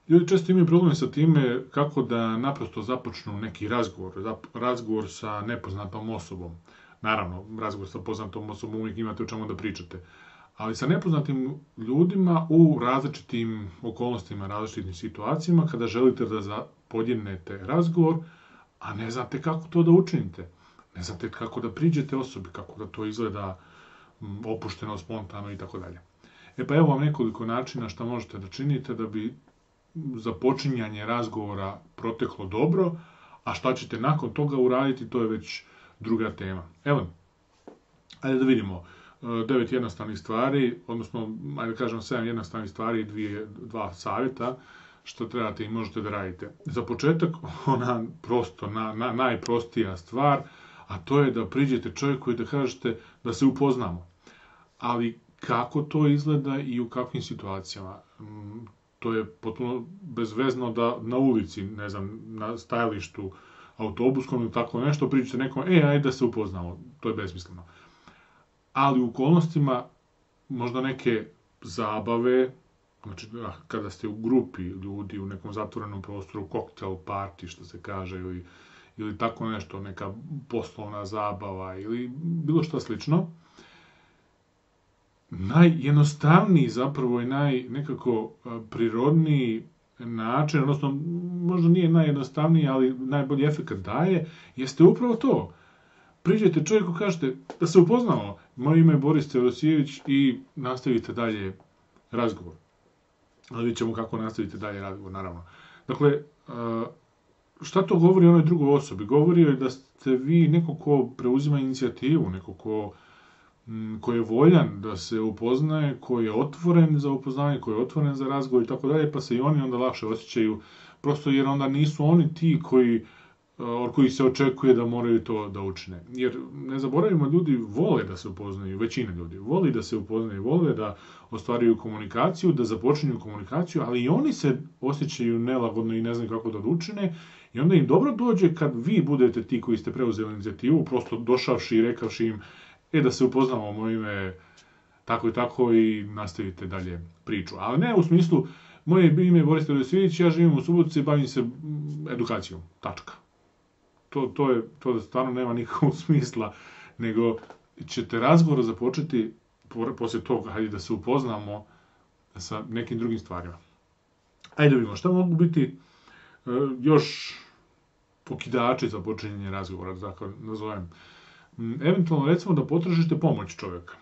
Ljudi često imaju problem sa time kako da naprosto započnu neki razgovor sa nepoznatom osobom. Naravno, razgovor sa poznatom osobom uvijek imate o čemu da pričate. Ali sa nepoznatim ljudima u različitim okolnostima, različitim situacijama, kada želite da podjednete razgovor, a ne znate kako to da učinite. Ne znate kako da priđete osobi, kako da to izgleda opušteno, spontano i tako dalje. E pa evo vam nekoliko načina šta možete da činite da bi započinjanje razgovora proteklo dobro, a šta ćete nakon toga uraditi, to je već druga tema. Evo, ajde da vidimo. 9 jednostavnih stvari, odnosno, ajde da kažem 7 jednostavnih stvari i dva savjeta što trebate i možete da radite. Za početak, ona prosto, najprostija stvar, a to je da priđete čovjeku i da kažete da se upoznamo. Ali kako to izgleda i u kakvim situacijama? To je potpuno bezvezno da na ulici, ne znam, na stajalištu autobuskom ili tako nešto, priđete nekom, ajde da se upoznamo. To je besmisleno. Ali u okolnostima možda neke zabave, znači kada ste u grupi ljudi u nekom zatvorenom prostoru, koktel party što se kaže, ili tako nešto, neka poslovna zabava ili bilo što slično, najjednostavniji zapravo i nekako prirodniji način, odnosno možda nije najjednostavniji, ali najbolji efekt daje, jeste upravo to. Priđete čovjeku, kažete da se upoznamo, moje ime je Boris Teodosijević i nastavite dalje razgovor. Ali vidjet ćemo kako nastavite dalje razgovor, naravno. Dakle, šta to govori o onoj drugoj osobi? Govori joj da ste vi neko ko preuzima inicijativu, neko ko je voljan da se upoznaje, ko je otvoren za upoznanje, ko je otvoren za razgovor i tako dalje, pa se i oni onda lakše osjećaju, prosto jer onda nisu oni ti od kojih se očekuje da moraju to da učine. Jer, ne zaboravimo, ljudi vole da se upoznaju, većina ljudi voli da se upoznaju, vole da ostvaruju komunikaciju, da započinju komunikaciju, ali i oni se osjećaju nelagodno i ne znaju kako da učine, i onda im dobro dođe kad vi budete ti koji ste preuzeli inicijativu, prosto došavši i rekavši im da se upoznamo, moje ime tako i tako i nastavite dalje priču. Ali ne u smislu, moje ime je Boris Teodosijević, ja živim u Subotici i bavim se edukacijom. Tačka. To stvarno nema nikakvog smisla, nego ćete razgovor započeti poslije toga, hajde da se upoznamo sa nekim drugim stvarima. Ajde vidimo, šta mogu biti još pokidači za počinjenje razgovora, tako nazovem. Eventualno, recimo, da potražite pomoć čovjeka.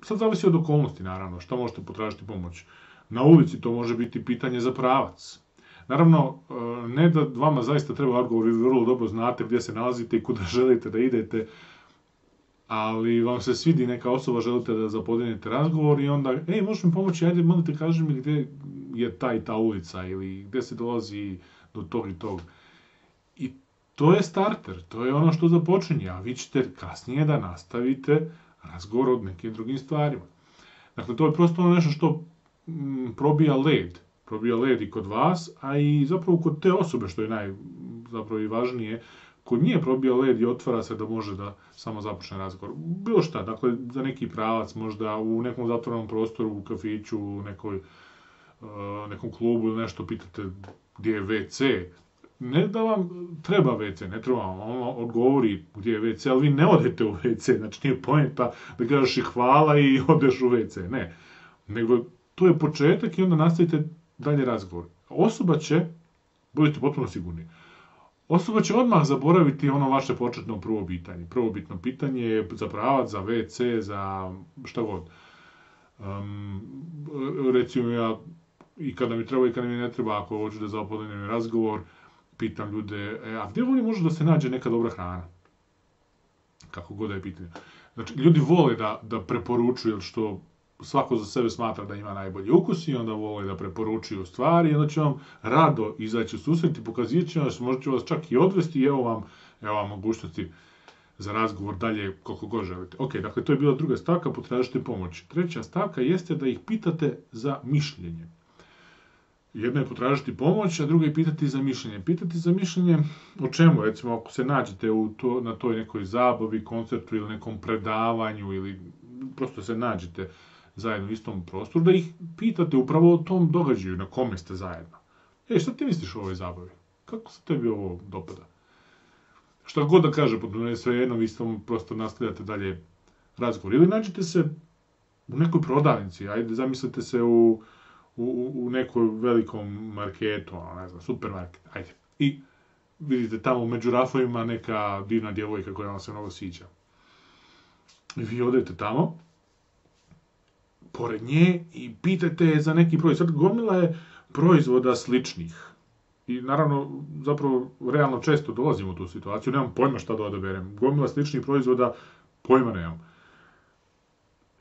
Sad zavisi od okolnosti, naravno, šta možete potražiti pomoć. Na ulici to može biti pitanje za pravac. Naravno, ne da vama zaista treba odgovor, vi vrlo dobro znate gdje se nalazite i kuda želite da idete, ali vam se svidi neka osoba, želite da zapodinete razgovor i onda, možeš mi pomoći, ajde, molite, kaži mi gdje je ta i ta ulica ili gdje se dolazi do tog i tog. I to je starter, to je ono što započinje, a vi ćete kasnije da nastavite razgovor o nekim drugim stvarima. Dakle, to je prosto ono nešto što probija led i kod vas, a i zapravo kod te osobe, što je zapravo i važnije, kod nje probija led i otvara se da može da samo započne razgovor. Bilo šta, dakle, za neki pravac, možda u nekom zatvorenom prostoru, u kafiću, u nekom klubu ili nešto, pitate gdje je WC. Ne da vam treba WC, ne treba vam, ono odgovori gdje je WC, ali vi ne odete u WC, znači nije poenta da kažeš i hvala i odeš u WC, ne. Nego to je početak i onda nastavite dalje razgovor. Osoba će, budite potpuno sigurni, osoba će odmah zaboraviti ono vaše početno prvobitanje. Prvobitno pitanje je za pravac, za WC, za šta god. Recimo ja, i kada mi treba i kada mi ne treba, ako hoću da započnem razgovor, pitam ljude, a gdje ovdje može da se nađe neka dobra hrana? Kako god da je pitanje. Znači, ljudi vole da preporučuju, što svako za sebe smatra da ima najbolji ukus i onda vole da preporučuju stvari i onda će vam rado izaći u susret i pokazivat će vas, možda će vas čak i odvesti i evo vam mogućnosti za razgovor dalje koliko god želite. Ok, dakle, to je bila druga stavka, potražite pomoć. Treća stavka jeste da ih pitate za mišljenje. Jedno je potražiti pomoć, a drugo je pitati za mišljenje. Pitati za mišljenje o čemu? Recimo, ako se nađete na toj nekoj zabavi, koncertu ili nekom predavanju ili prosto se nađete zajedno u istom prostoru, da ih pitate upravo o tom događaju na kome ste zajedno. Šta ti misliš o ovoj zabavi? Kako se tebi ovo dopada? Šta god da kaže, potpuno je sve jedno, vi samo prosto nastavljate dalje razgovor. Ili nađete se u nekoj prodavnici, ajde, zamislite se u nekoj velikom marketu, ne znam, supermarket, ajde. I vidite tamo među rafovima neka divna djevojka koja vam se mnogo sviđa. I vi odete tamo, pored nje, i pitate je za neki proizvod. Sad gomila je proizvoda sličnih. I naravno, zapravo, realno često dolazim u tu situaciju, nemam pojma šta da odaberem. Gomila sličnih proizvoda, pojma nemam.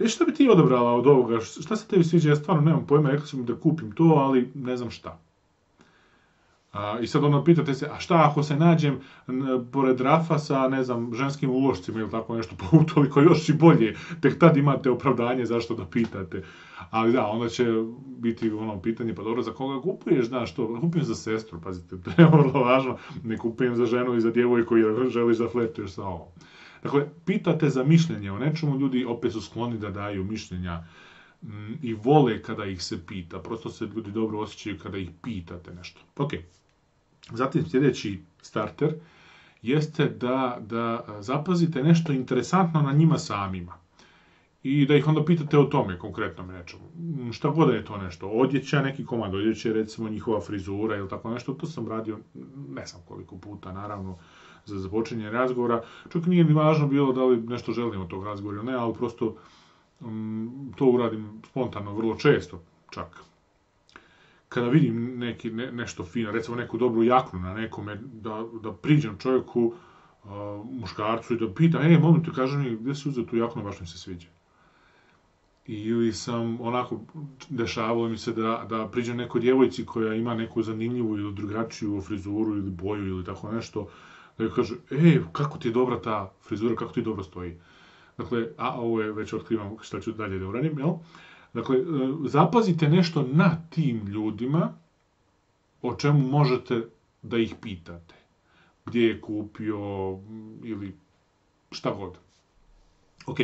Šta bi ti odabrala od ovoga? Šta se tebi sviđa? Ja stvarno nemam pojma, rekla sam da kupim to, ali ne znam šta. I sad ono pitate se, a šta ako se nađem pored rafa sa, ne znam, ženskim ulošcima ili tako nešto, pa utoliko još i bolje, tek tad imate opravdanje zašto da pitate. Ali da, onda će biti ono pitanje, pa dobro, za koga kupuješ, znaš to, kupujem za sestru, pazite, to je vrlo važno, ne kupujem za ženu i za djevojku jer želiš da flertuješ sa ovom. Dakle, pitate za mišljenje o nečemu, ljudi opet su skloni da daju mišljenja i vole kada ih se pita, prosto se ljudi dobro osjećaju kada ih pitate nešto. Ok. Zatim sljedeći starter jeste da zapazite nešto interesantno na njima samima i da ih onda pitate o tome, konkretno nečemu. Šta god da je to nešto, odjeća, neki komad odjeće, recimo njihova frizura ili tako nešto, to sam radio ne znam koliko puta, naravno, za započinje razgovora. Čak nije ni važno bilo da li nešto želim od tog razgovora ili ne, ali prosto to uradim spontano, vrlo često čak. Kada vidim nešto fino, recimo neku dobru jaknu na nekome, da priđem čovjeku, muškarcu i da pitam, molim te, kaži mi, gdje si uzeo tu jaknu, baš mi se sviđa. Ili sam onako, dešavalo mi se da priđem nekoj djevojci koja ima neku zanimljivu ili drugačiju frizuru ili boju ili tako nešto, da joj kaže, kako ti je dobra ta frizura, kako ti dobro stoji. Dakle, ovo je, već otkrivam šta ću dalje da uradim, jel? Dakle, zapazite nešto na tim ljudima o čemu možete da ih pitate. Gdje je kupio ili šta god. Ok,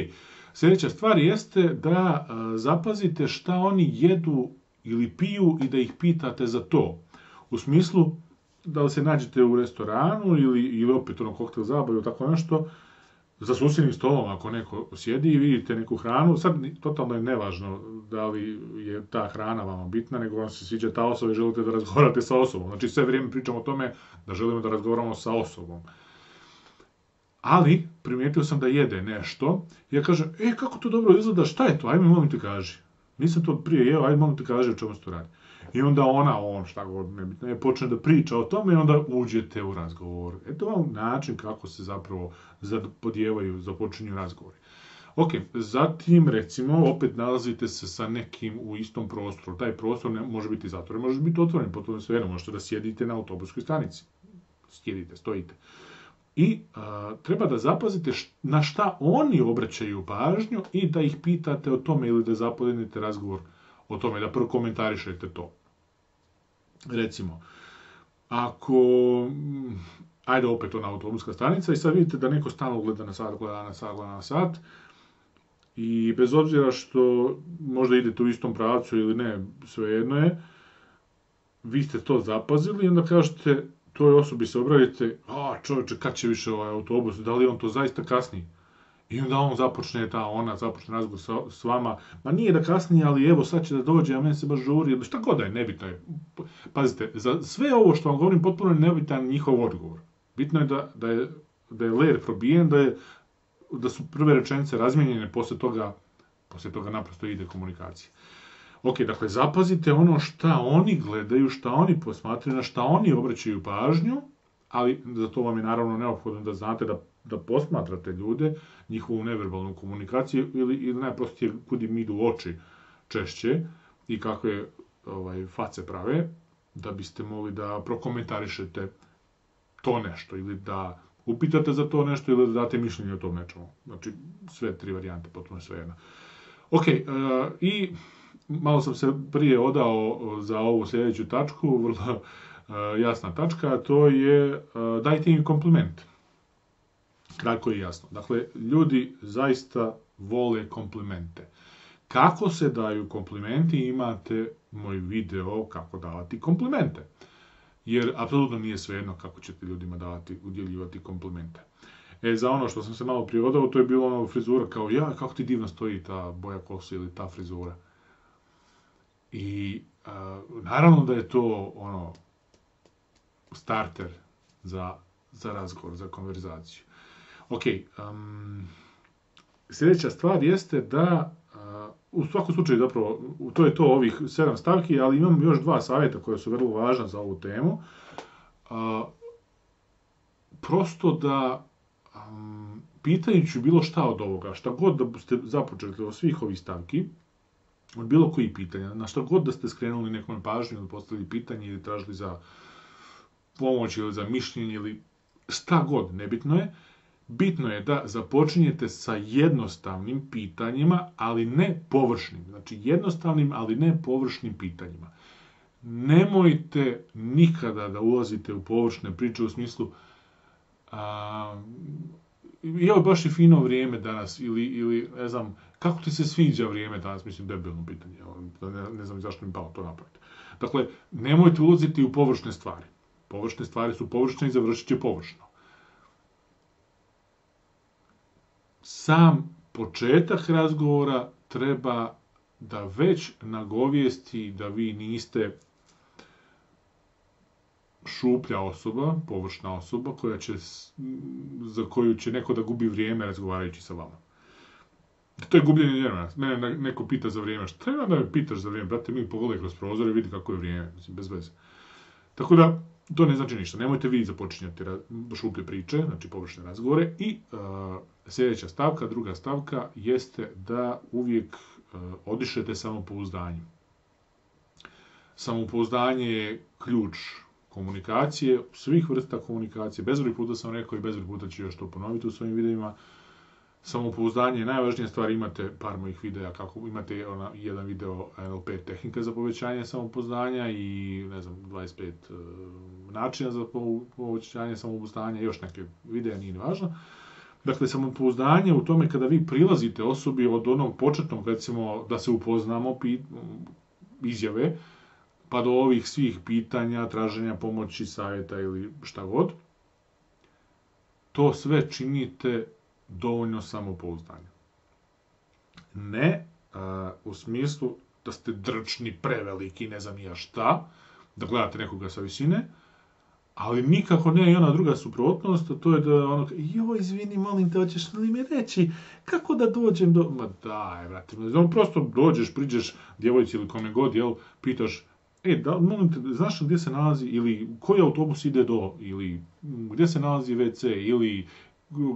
sljedeća stvar jeste da zapazite šta oni jedu ili piju i da ih pitate za to. U smislu, da li se nađete u restoranu ili opet koktel zabavu ili tako nešto, za susjednim stolom ako neko sjedi i vidite neku hranu, sad totalno je nevažno da li je ta hrana vama bitna, nego vam se sviđa ta osoba i želite da razgovarate sa osobom. Znači sve vrijeme pričamo o tome da želimo da razgovaramo sa osobom. Ali primijetio sam da jede nešto i ja kažem, kako to dobro izgleda, šta je to, ajme molim te kaži. Nisam to prije jeo, ajme molim te kaži o čemu se to radi. I onda on, šta god nebitno, počne da priča o tome i onda uđete u razgovor. Eto vam način kako se zapravo započinju razgovori. Ok, zatim recimo opet nalazite se sa nekim u istom prostoru. Taj prostor može biti zatvoren, može biti otvoren, potpuno svejedno, možete da sjedite na autobuskoj stanici. Stojite. I treba da zapazite na šta oni obraćaju pažnju i da ih pitate o tome ili da započnete razgovor o tome, da prokomentarišete to. Recimo, ako, ajde opet ona autobuska stanica i sad vidite da neko stalno gleda na sat i bez obzira što možda idete u istom pravcu ili ne, svejedno je, vi ste to zapazili i onda kažete toj osobi se obratite, čovječe, kad će više ovaj autobus, da li on to zaista kasni? I onda on započne razgovor s vama, ma nije da kasnije, ali evo sad će da dođe, a meni se baš žuri, šta god da je, nebitno je. Pazite, za sve ovo što vam govorim, potpuno je nebitan njihov odgovor. Bitno je da je layer probijen, da su prve rečenice razmijenjene, poslije toga naprosto ide komunikacija. Ok, dakle, zapazite ono šta oni gledaju, šta oni posmatraju, na šta oni obraćaju pažnju, ali za to vam je naravno neophodno da znate da posmatrate ljude, njihovu neverbalnu komunikaciju ili najprostije kud im idu oči češće i kakve face prave, da biste mogli da prokomentarišete to nešto ili da upitate za to nešto ili da date mišljenje o tom nečemu. Znači, sve tri varijante, potpuno sve jedno. Ok, i malo sam se prije odao za ovu sljedeću tačku, vrlo jasna tačka, a to je dajte im kompliment. Kratko i jasno. Dakle, ljudi zaista vole komplimente. kako se daju komplimenti, imate moj video kako davati komplimente. Jer apsolutno nije svejedno kako ćete ljudima udjeljivati komplimente. Za ono što sam se malo prije odao, to je bilo ono frizura kao, kako ti divno stoji ta boja kose ili ta frizura. I naravno da je to ono starter za razgovor, za konverzaciju. Ok, sljedeća stvar jeste da u svakom slučaju zapravo, to je to ovih 7 stavki, ali imam još 2 savjeta koja su vrlo važna za ovu temu. Prosto da pitajući bilo šta od ovoga, šta god da ste započeli od svih ovih stavki, od bilo kojih pitanja, na šta god da ste skrenuli nekome pažnju ili postavili pitanje ili tražili za pomoć ili za mišljenje ili šta god, nebitno je. Bitno je da započinjete sa jednostavnim pitanjima, ali ne površnim. Znači jednostavnim, ali ne površnim pitanjima. Nemojte nikada da ulazite u površne priče u smislu evo baš je fino vrijeme danas ili ne znam, kako ti se sviđa vrijeme danas, mislim debilno pitanje, ne znam zašto mi palo to napraviti. Dakle, nemojte ulaziti u površne stvari. Površne stvari su površne i završit će površno. Sam početak razgovora treba da već nagovijesti da vi niste šuplja osoba, površna osoba, za koju će neko da gubi vrijeme razgovarajući sa vama. To je gubljenje vremena. Mene neko pita za vrijeme. Šta treba da me pitaš za vrijeme? Brate, mi pogledaj kroz prozor i vidi kako je vrijeme. Mislim, bez veze. Tako da, to ne znači ništa. Nemojte vi započinjati šuplje priče, znači površne razgovore. I sljedeća stavka, druga stavka, jeste da uvijek odišete samopouzdanjem. Samopouzdanje je ključ komunikacije, svih vrsta komunikacije. Bezbroj puta sam rekao i bezbroj puta ću još to ponoviti u svojim videima. Samopouzdanje je najvažnija stvar, imate par mojih videa, imate jedan video NLP tehnika za povećanje samopouzdanja i 25 načina za povećanje samopouzdanja, još neke videa, nije važno. Dakle, samopouzdanje u tome kada vi prilazite osobi od onog početnog, recimo, da se upoznamo izjave, pa do ovih svih pitanja, traženja pomoći, savjeta ili šta god, to sve činite dovoljno samopouzdanja. Ne u smislu da ste drčni, preveliki, ne znam ja šta, da gledate nekoga sa visine, ali nikako ne i ona druga suprotnost, to je da ono, izvini, molim te, hoćeš li mi reći kako da dođem do... Ma daj, vrati, prosto dođeš, priđeš djevojci ili kome god, pitaš, molim te, znaš gdje se nalazi, ili koji autobus ide ili gdje se nalazi WC, ili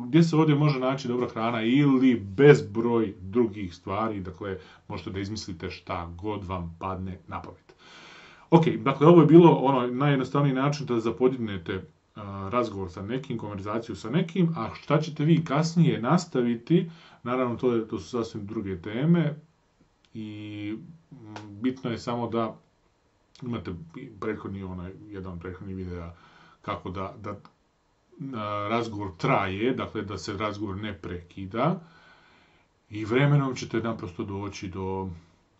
gdje se ovdje može naći dobra hrana, ili bezbroj drugih stvari, dakle, možete da izmislite šta god vam padne na pamet. Ok, dakle, ovo je bilo najjednostavniji način da zapodignete razgovor sa nekim, konverzaciju sa nekim, a šta ćete vi kasnije nastaviti, naravno to su sasvim druge teme i bitno je samo da imate jedan od prethodnih videa kako da razgovor traje, dakle da se razgovor ne prekida i vremenom ćete naprosto doći do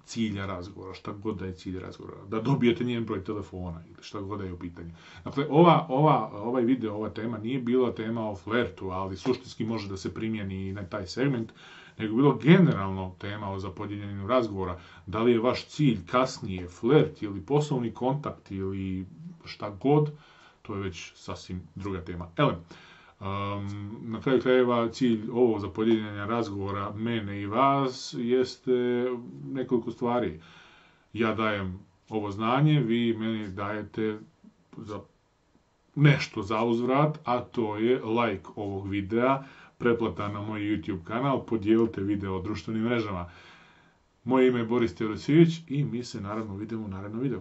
cilja razgovora, šta god da je cilj razgovora, da dobijete njen broj telefona ili šta god da je u pitanju. Dakle, ovaj video, ova tema nije bila tema o flertu, ali suštinski može da se primjeni i na taj segment, nego bilo generalno tema o zapodjeljenju razgovora. Da li je vaš cilj kasnije flert ili poslovni kontakt ili šta god, to je već sasvim druga tema. Na kraju krajeva cilj ovog zapodjeljenja razgovora mene i vas jeste nekoliko stvari. Ja dajem ovo znanje, vi meni dajete nešto za uzvrat, a to je like ovog videa, pretplata na moj YouTube kanal, podijelite video o društvenim mrežama. Moje ime je Boris Teodosijević i mi se naravno vidimo u narednom videu.